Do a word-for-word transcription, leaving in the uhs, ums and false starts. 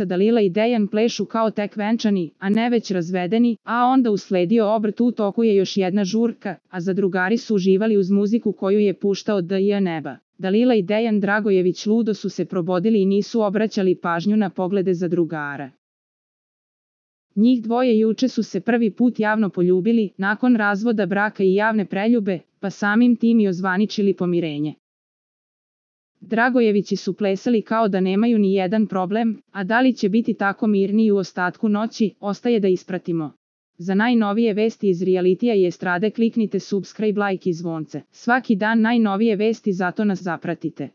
Dalila i Dejan plešu kao tek venčani, a ne već razvedeni, a onda usledio obrt. U toku je još jedna žurka, a zadrugari su uživali uz muziku koju je puštao D J Neba. Dalila i Dejan Dragojević ludo su se probodili i nisu obraćali pažnju na poglede zadrugara. Njih dvoje juče su se prvi put javno poljubili, nakon razvoda braka i javne preljube, pa samim tim i ozvaničili pomirenje. Dragojevići su plesali kao da nemaju ni jedan problem, a da li će biti tako mirni i u ostatku noći, ostaje da ispratimo. Za najnovije vesti iz realitija i estrade kliknite subscribe, like i zvonce. Svaki dan najnovije vesti, zato nas zapratite.